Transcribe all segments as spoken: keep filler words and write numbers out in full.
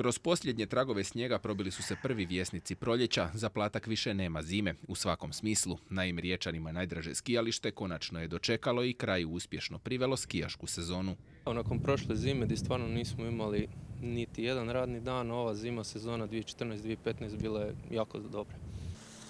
Kroz posljednje tragove snijega probili su se prvi vjesnici proljeća, za Platak više nema zime, u svakom smislu. Naime, Riječanima najdraže skijalište konačno je dočekalo i kraju uspješno privelo skijašku sezonu. Nakon prošle zime gdje stvarno nismo imali niti jedan radni dan, ova zima sezona dvije tisuće četrnaeste dvije tisuće petnaeste bila je jako dobra.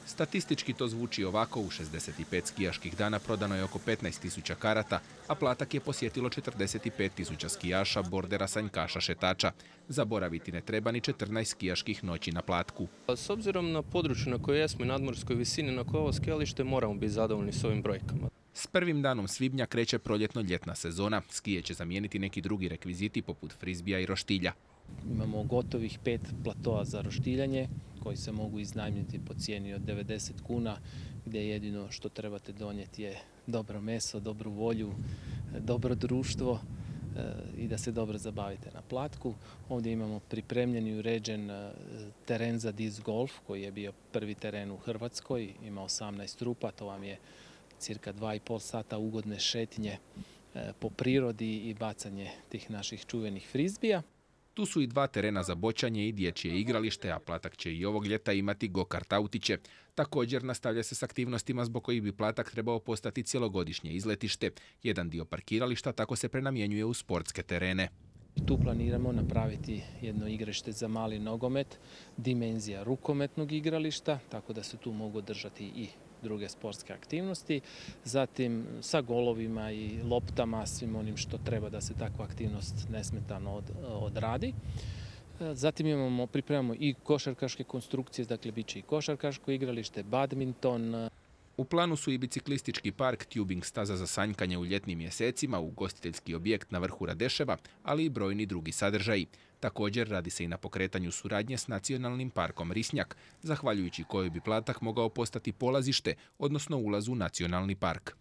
Statistički to zvuči ovako, u šezdeset pet skijaških dana prodano je oko petnaest tisuća karata, a Platak je posjetilo četrdeset pet tisuća skijaša, bordera, sanjkaša, šetača. Zaboraviti ne treba ni četrnaest skijaških noći na Platku. S obzirom na područje na kojoj jesmo i nadmorskoj visini na kojoj ovo skijalište, moramo biti zadovoljni s ovim brojkama. S prvim danom svibnja kreće proljetno-ljetna sezona. Skije će zamijeniti neki drugi rekviziti poput frizbija i roštilja. Imamo gotovih pet platoa za roštiljanje koji se mogu iznajmiti po cijeni od devedeset kuna, gdje jedino što trebate donijeti je dobro meso, dobru volju, dobro društvo i da se dobro zabavite na Platku. Ovdje imamo pripremljen i uređen teren za disc golf koji je bio prvi teren u Hrvatskoj, ima osamnaest rupa, to vam je cirka dva i pol sata ugodne šetnje po prirodi i bacanje tih naših čuvenih frizbija. Tu su i dva terena za boćanje i dječje igralište, a Platak će i ovog ljeta imati go-kart autiće. Također nastavlja se s aktivnostima zbog kojih bi Platak trebao postati cjelogodišnje izletište. Jedan dio parkirališta tako se prenamjenjuje u sportske terene. Tu planiramo napraviti jedno igralište za mali nogomet, dimenzija rukometnog igrališta, tako da se tu mogu održati i druge sportske aktivnosti, zatim sa golovima i loptama, svim onim što treba da se takva aktivnost nesmetano od, odradi. Zatim imamo, pripremamo i košarkaške konstrukcije, dakle bit će i košarkaško igralište, badminton. U planu su i biciklistički park, tubing staza za sanjkanje u ljetnim mjesecima, ugostiteljski objekt na vrhu Radeševa, ali i brojni drugi sadržaji. Također radi se i na pokretanju suradnje s Nacionalnim parkom Risnjak, zahvaljujući kojoj bi Platak mogao postati polazište, odnosno ulaz u nacionalni park.